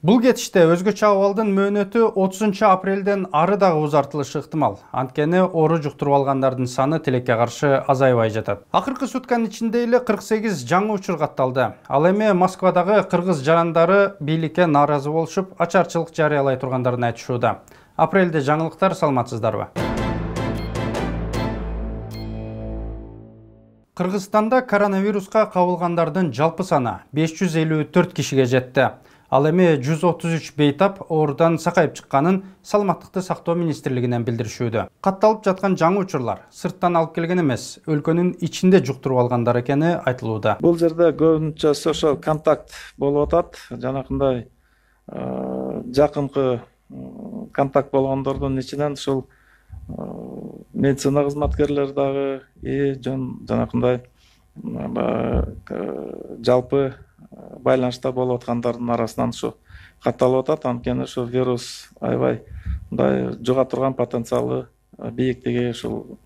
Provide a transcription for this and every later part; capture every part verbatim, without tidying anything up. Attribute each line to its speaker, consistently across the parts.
Speaker 1: Бул кетиште өзгөчө абалдын мөөнөтү отузунчу апрелден ары дагы узартылышы ыктымал. Анткени оору жуктуруп алгандардын саны тилекке каршы азайбай жатат. Акыркы сутканын ичинде эле кырк сегиз жаңы учур катталды. Ал эми Москвадагы кыргыз жарандары бийликке нааразы болушуп, ачарчылык жарыялай тургандарын айтышууда. Апрелде жаңылыктар, саламатсыздарбы? Кыргызстанда коронавируска кабылгандардын жалпы саны беш жүз элүү төрт кишиге жетти. Ал эми жүз отуз үч бейтап оорудан сакайып чыкканын Саламаттыкты сактоо министрлигинен билдиришүүдө. Катталып жаткан жаңы учурлар сырттан алып келген эмес, өлкөнүн ичинде жуктуруп алгандар экени айтылууда.
Speaker 2: Бул жерде көбүнчө social контакт болуп атат. Жанакындай жакынкы контакт болгондордун ичинен ушул медицина кызматкерлери дагы и жанакындай жалпы байланышта болуп аткандардын арасынан ушу катталып атат. Анткени ушу вирус аябай мындай жуга турган потенциалы бийиктиги ушул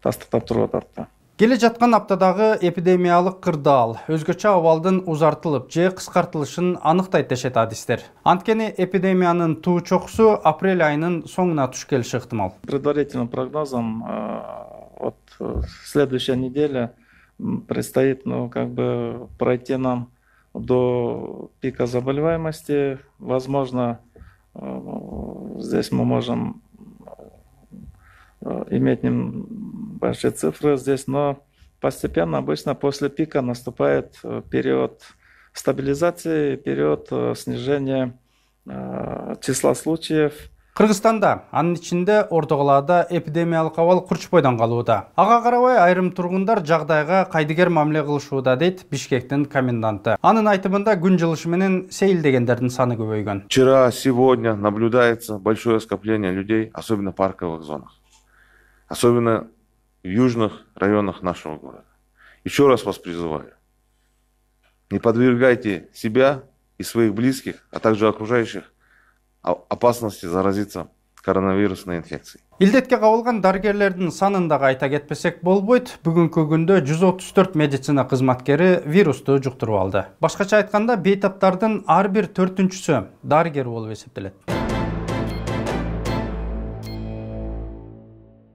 Speaker 2: тастыктап туруп атат.
Speaker 1: Келе жаткан аптадагы эпидемиялык кырдаал өзгөчө абалдын узартылып же кыскартылышын аныктайт дешет адистер. Анткени эпидемиянын туу чокусу апрель айынын соңуна туш келиши ыктымал.
Speaker 2: Предварительным прогнозом от следующей недели предстоит, ну, как бы пройти нам до пика заболеваемости. Возможно, здесь мы можем иметь большие цифры здесь, но постепенно, обычно после пика наступает период стабилизации, период снижения числа случаев.
Speaker 1: Кыргызстанда, анын ичинде Орто Калаада эпидемиялык абал курчпойдон калууда. Ага карабай айрым тургундар жагдайга кайдыгер мамиле кылышууда, дейт Бишкектин коменданты. Анын айтымында күн жылышы менен сейилдегендердин саны көбөйгөн.
Speaker 3: Вчера, сегодня наблюдается большое скопление людей, особенно в парковых зонах. Особенно в южных районах нашего города. Еще раз вас призываю. Не подвергайте себя и своих близких, а также окружающих опасности заразиться коронавирусной инфекцией.
Speaker 1: Илдетке кабылган дарыгерлердин санын дагы айта кетпесек болбойт. Бүгүнкү күндө жүз отуз төрт медицина кызматкери вирусту жуктуруп алды. Башкача айтканда, бейтаптардын ар бир төртүнчүсү дарыгер болуп эсептелет.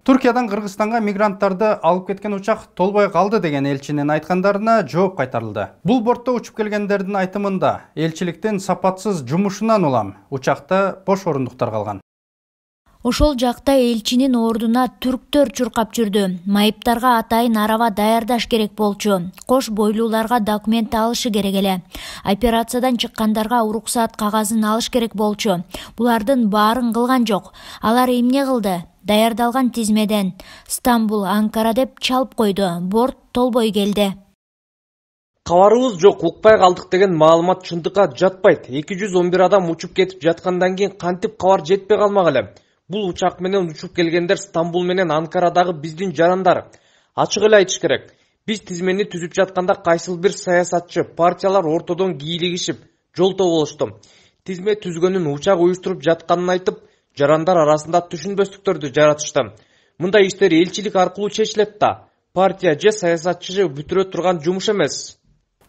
Speaker 1: Түркиядан Кыргызстанга мигранттарды алып кеткен учак толбой калды деген элчинин айткандарына жооп кайтарылды. Бул бортто учуп келгендердин айтымында элчиликтин сапатсыз жумушунан улам учакта бош орундуктар калган.
Speaker 4: Ошол жакта элчинин ордуна түрктөр чуркап жүрдү. Майыптарга атайын араба даярдаш керек болчу. Кош бойлууларга документ алышы керек эле. Операциядан чыккандарга уруксаат кагазын алыш керек болчу. Булардын баарын кылган жок. Алар эмне кылды? Даярдалган тизмеден Стамбул, Анкара деп чалып койду. Борт толбой келди.
Speaker 5: Кабарыбыз жок, укпай калдык деген маалымат чындыкка жатпайт. эки жүз он бир адам учуп кетип жаткандан кийин кантип кабар жетпей калмак эле. Бул учак менен учуп келгендер Стамбул менен Анкарадагы биздин жарандар. Ачык эле айтыш керек. Биз тизмени түзүп жатканда кайсыл бир саясатчы, партиялар ортодон кийлигишип, жолтоо болушту. Тизме түзгөнүн учак уюштуруп жатканын айтып, жарандар арасында түшүнбөстүктөрдү жаратышты. Мындай иштер элчилик аркылуу чечилет да. Партия же саясатчы бүтүрө турган жумуш эмес.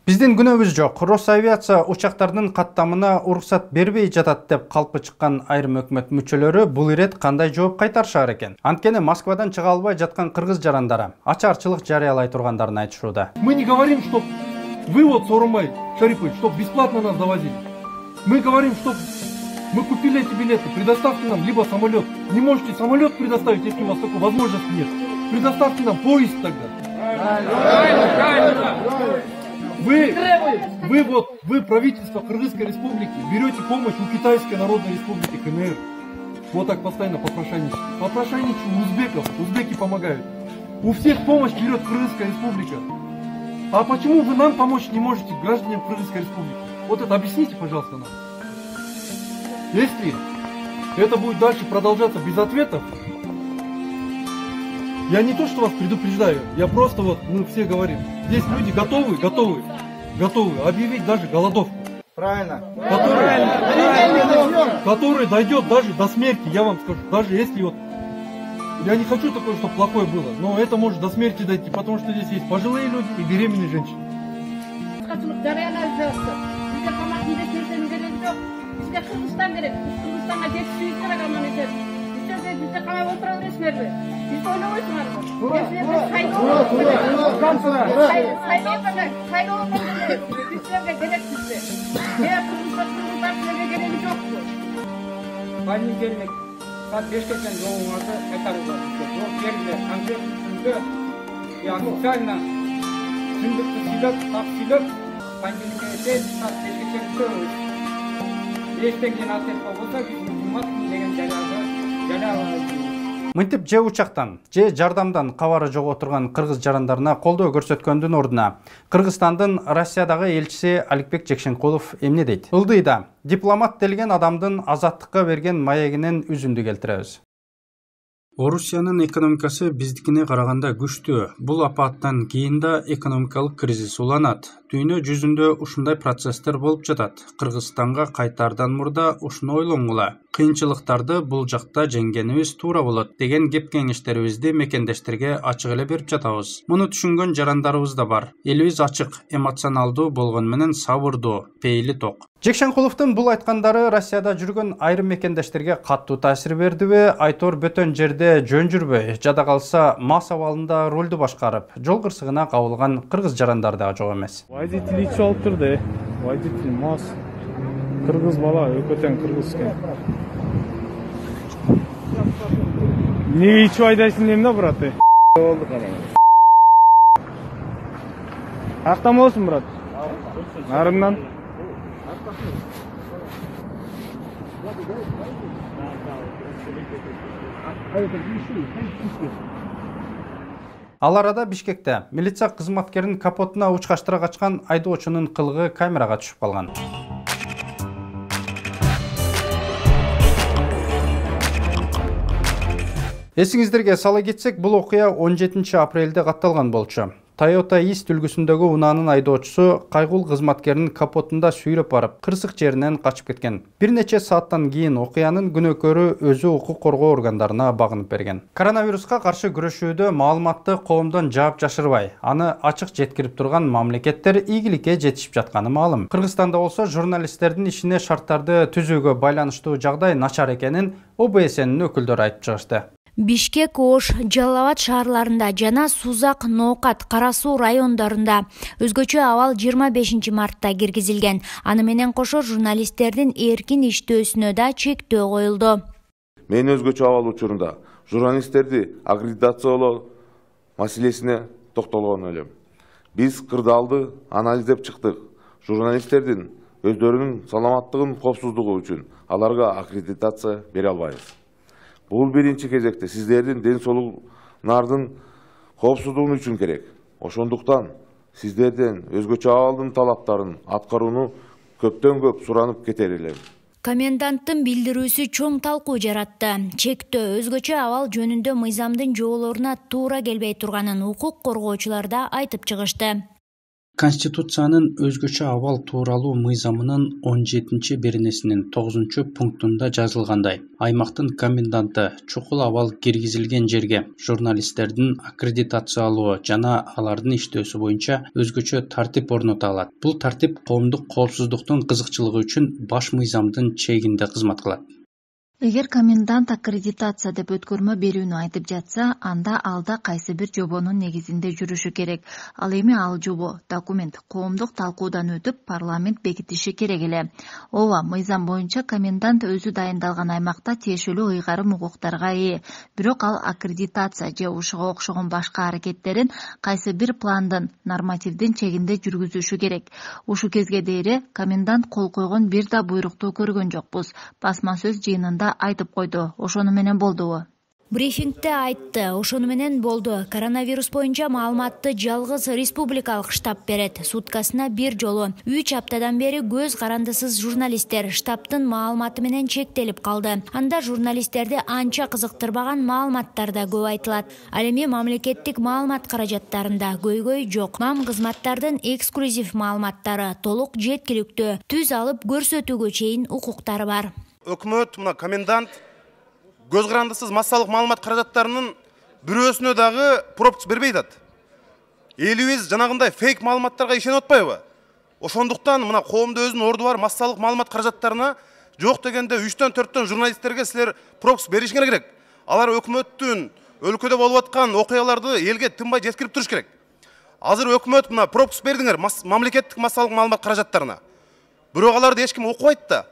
Speaker 1: Биздин күнөөбүз жок. Росавиация учактардын каттамына уруксат бербей жатат деп калпы чыккан айрым өкмөт мүчөлөрү бул ирет кандай жооп кайтарышар экен? Анткени Москвадан чыга албай жаткан кыргыз жарандары ачарчылык жарыялай тургандарын айтышууда.
Speaker 6: Мы не говорим, что вы вот, Сооронбай Шарипович, что бесплатно нас довозили. Мы говорим, что мы купили эти билеты, предоставьте нам либо самолет. Не можете самолет предоставить, если у вас такой возможности нет. Предоставьте нам поезд тогда. Вы, вы вот, вы правительство Кыргызской республики берете помощь у Китайской Народной Республики КНР. Вот так постоянно попрошайничаете. Попрошайничаете у узбеков, узбеки помогают. У всех помощь берет Кыргызская республика. А почему вы нам помочь не можете, гражданам Кыргызской республики? Вот это объясните, пожалуйста, нам. Если это будет дальше продолжаться без ответов, я не то, что вас предупреждаю, я просто вот, мы все говорим, здесь люди готовы, готовы, готовы объявить даже голодовку.
Speaker 7: Правильно.
Speaker 6: Который, который дойдет даже до смерти, я вам скажу, даже если вот, я не хочу такое, чтобы плохое было, но это может до смерти дойти, потому что здесь есть пожилые люди и беременные женщины.
Speaker 7: Кыргызстан керек. Кыргызстанга жетишибиз керек аман эсен. Бизде бизде камап отура бересиңерби? Бизди ойлобойсуңарбы? Силерге сайлоо сайлоо силерге керексизби? Эээ кыргыздар силерге кереги жокпу?
Speaker 8: Понедельник саат бешке чейин жолуңарды кайтарыңыздар. Жол жеринде конкреттүү түрдө и официально түндүктү сүйлөп, так сүйлөп, понедельникке чейин саат бешке чейин күтөбүз. Бештен кийин ответ болбосо биз жумат деген жарыяды жарыялайбыз.
Speaker 1: Мынтип же учактан, же жардамдан кабары жок отурган кыргыз жарандарына колдоо көрсөткөндүн ордуна Кыргызстандын Россиядагы элчиси Аликбек Жекшенкулов эмне дейт? Ылдыйда дипломат делген адамдын азаттыкка берген маегинен үзүндү келтиребиз. Орусиянын экономикасы биздикине караганда күчтүү. Бул апаттан кийин да экономикалык кризис уланат. Дүйнө жүзүндө ушундай процесстер болуп жатат. Кыргызстанга кайтаардан мурда ушуну ойлонгула. Кыйынчылыктарды бул жакта жеңгенибиз туура болот деген кеп кеңештерибизди мекендештерге ачык эле берип жатабыз. Муну түшүнгөн жарандарыбыз да бар. Элибиз ачык, эмоционалдуу болгону менен сабырдуу, пейили ток. Жекшенкуловдун бул айткандары Россияда жүргөн айрым мекендештерге каттуу таасир бердиби? Айтор бөтөн жерде жөн жүрбөй, жада калса мас абалында ролду башкарып, жол кырсыгына кабылган кыргыз жарандар да жок эмес.
Speaker 9: Водитель ичип алыптыр да. Водитель мас. Кыргыз бала, өкөтөн кыргыз экен. Эмнеге ичип айдайсың дейм да, брат? Болду кана. Актан болсун, брат. Нарымдан.
Speaker 1: Ал арада Бишкекте милиция кызматкерин капотуна учкаштыра качкан айдоочунун кылыгы камерага түшүп калган. Эсиңиздерге сала кетсек, бул окуя он жетинчи апрелде катталган болчу. Toyota East үлгүсүндөгү унаанын айдоочусу кайгул кызматкерин капотунда сүйрөп барып, кырсык жеринен качып кеткен. Бир нече сааттан кийин окуянын күнөөкөрү өзү укук коргоо органдарына багынып берген. Коронавируска каршы күрөшүүдө маалыматты коомдон жаап жашырбай, аны ачык жеткирип турган мамлекеттер ийгиликке жетишип жатканы маалым. Кыргызстанда болсо журналисттердин ишине шарттарды түзүүгө байланыштуу жагдай начар экенин О Б С Нин өкүлдөрү айтып чыгышты.
Speaker 4: Бишкек, Ош, Жалал Абад шаарларында жана Сузак, Ноокат, Кара Суу райондорунда өзгөчө абал жыйырма бешинчи мартта киргизилген. Аны менен кошо журналисттердин эркин иштөөсүнө да чектөө коюлду.
Speaker 3: Мен өзгөчө абал учурунда журналисттерди аккредитациялоо маселесине токтолгон элем. Биз кырдаалды анализдеп чыктык. Журналисттердин өздөрүнүн саламаттыгын, коопсуздугу үчүн аларга аккредитация бере албайбыз. Бул биринчи кезекте сиздердин ден соолугуңардын коопсуздугу үчүн керек. Ошондуктан сиздерден өзгөчө абалдын талаптарын аткарууну көптөн көп суранып кетер элем.
Speaker 4: Коменданттын билдирүүсү чоң талкуу жаратты. Чектөө өзгөчө абал жөнүндө мыйзамдын жоболоруна туура келбей турганын укук коргоочулар да айтып чыгышты.
Speaker 1: Конституциянын өзгөчө абал тууралуу мыйзамынын он жетинчи беренесинин тогузунчу пунктунда жазылгандай, аймактын коменданты чукул абал киргизилген жерге журналисттердин аккредитациялоо жана алардын иштөөсү боюнча өзгөчө тартип орното алат. Бул тартип коомдук коопсуздуктун кызыкчылыгы үчүн баш мыйзамдын чегинде кызмат кылат.
Speaker 10: Эгер комендант аккредитация деп өткөрмө берүүнү айтып жатса, анда алда кайсы бир жобонун негизинде жүрүшү керек. Ал эми ал жобо, документ коомдук талкуудан өтүп, парламент бекитиши керек эле. Ооба, мыйзам боюнча комендант өзү дайындалган аймакта тиешелүү ыйгарым укуктарга ээ. Бирок ал аккредитация же ушуга окшогон башка аракеттерин кайсы бир пландын, нормативдин чегинде жүргүзүшү керек. Ушу кезге дейре комендант кол койгон бир да буйрукту көргөн жокпуз. Басма сөз жыйынында айтып койду. Ошону менен болдубу?
Speaker 4: Брифингте айтты. Ошону менен болду. Коронавирус боюнча маалыматты жалгыз республикалык штаб берет. Суткасына бир жолу. үч аптадан бери көз карандысыз журналисттер штабтын маалыматы менен чектелип калды. Анда журналисттерди анча кызыктырбаган маалыматтар да көп айтылат. Ал эми мамлекеттик маалымат каражаттарында көйгөй жок. Мам кызматтардын эксклюзив маалыматтары толук жеткиликтүү. Түз алып көрсөтүүгө чейин укуктары бар.
Speaker 11: Өкмөт, мына комендант көз карандысыз массалык маалымат каражаттарынын бирөөсүнө дагы пропуск бербей атат. Элибиз жанагындай фейк маалыматтарга ишенип атпайбы? Ошондуктан мына коомдо өзүнүн орду бар массалык маалымат каражаттарына Жок дегенде үчтөн төрттөн журналисттерге силер пропуск беришиңер керек. Алар өкмөттүн өлкөдө болуп аткан окуяларды элге тынбай жеткирип туруш керек. Азыр өкмөт мына пропуск бердиңер мамлекеттик массалык маалымат каражаттарына. Бирок аларды эч ким окубайт да.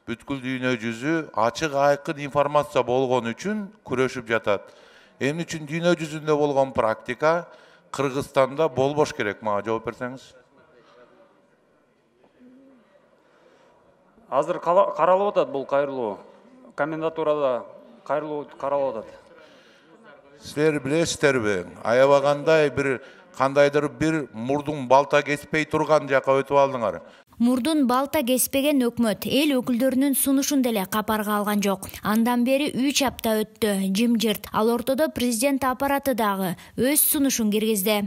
Speaker 12: Бүткүл дүйнө жүзү ачык айкын информация болгон үчүн күрөшүп жатат. Эмне үчүн дүйнө жүзүндө болгон практика Кыргызстанда болбош керек? Мага жооп берсеңиз.
Speaker 8: Азыр каралып атат бул кайрылуу. Комендатурада кайрылуу каралып атат.
Speaker 12: Силер билесиздерби? Аябагандай бир кандайдыр бир мурдун балта кеспей турган жака өтүп алдыңар.
Speaker 4: Мурдун балта кеспеген өкмөт эл өкүлдөрүнүн сунушун деле капарга алган жок. Андан бери үч апта өттү, жымжырт. Ал ортодо президент аппараты дагы өз сунушун киргизди.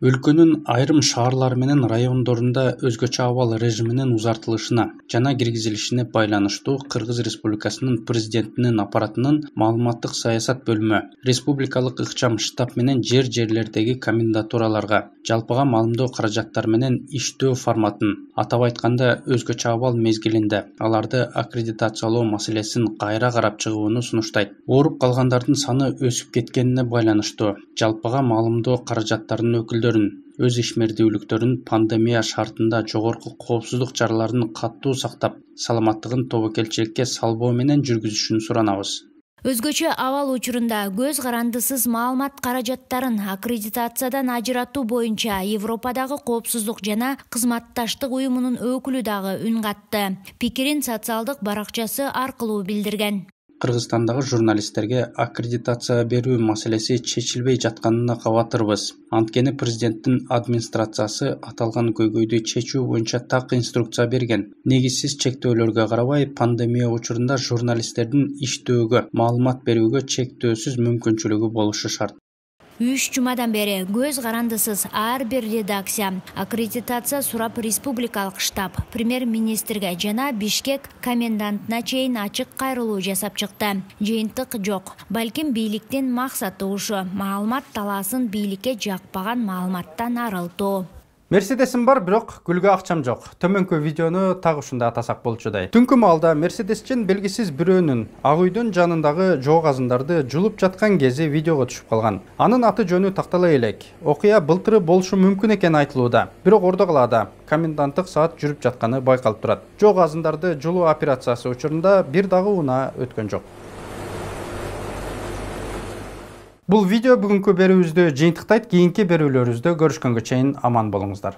Speaker 1: Өлкөнүн айрым шаарлары менен райондорунда өзгөчө абал режиминин узартылышына жана киргизилишине байланыштуу Кыргыз Республикасынын президентинин аппаратынын маалыматтык саясат бөлүмү республикалык ыкчам штаб менен жер-жерлердеги комендатураларга жалпыга маалымдоо каражаттары менен иштөө форматын, атап айтканда өзгөчө абал мезгилинде аларды аккредитациялоо маселесин кайра карап чыгууну сунуштайт. Ооруп калгандардын саны өсүп кеткенине байланыштуу жалпыга маалымдоо каражаттарынын өкүлдөрү өз ишмердүүлүктөрүн пандемия шартында жогорку коопсуздук чараларын катуу сактап, саламаттыгын тобокелчиликке салбоо менен жүргүзүшүн суранабыз.
Speaker 4: Өзгөчө абал учурунда көз карандысыз маалымат каражаттарын аккредитациядан ажыратуу боюнча Европадагы коопсуздук жана кызматташтык уюмунун өкүлү дагы үн катты. Пикирин социалдык баракчасы аркылуу билдирген.
Speaker 1: Кыргызстандагы журналисттерге аккредитация берүү маселеси чечилбей жатканына кабатырбыз. Анткени президенттин администрациясы аталган көйгөйдү чечүү боюнча так инструкция берген. Негизсиз чектөөлөргө карабай, пандемия учурунда журналисттердин иштөөгө, маалымат берүүгө чектөөсүз мүмкүнчүлүгү болушу шарт.
Speaker 4: Үч жумадан бери көз карандысыз ар бир редакция аккредитация сурап республикалык штаб, премьер-министрге жана Бишкек комендантына чейин ачык кайрылуу жасап чыкты. Жыйынтык жок. Балким бийликтин максаты ушу маалымат талаасын бийликке жакпаган маалыматтан арылтуу.
Speaker 1: Мерседесим бар, бирок гүлгө акчам жок. Төмөнкү видеону так ушунда атасак болчудай. Түнкү маалда Мерседесчен белгисиз бирөөнүн ак үйдүн жанындагы жоо казындарды жулуп жаткан кези видеого түшүп калган. Анын аты жөнү тактала элек. Окуя былтыры болушу мүмкүн экени айтылууда. Бирок Ордо калаада коменданттык саат жүрүп жатканы байкалып турат. Жоо казындарды жулуу операциясы учурунда бир дагы унаа өткөн жок. Бул видео бүгүнкү берүүбүздү жыйынтыктайт. Кийинки берүүлөрүбүздө көрүшкөнгө чейин аман болуңуздар.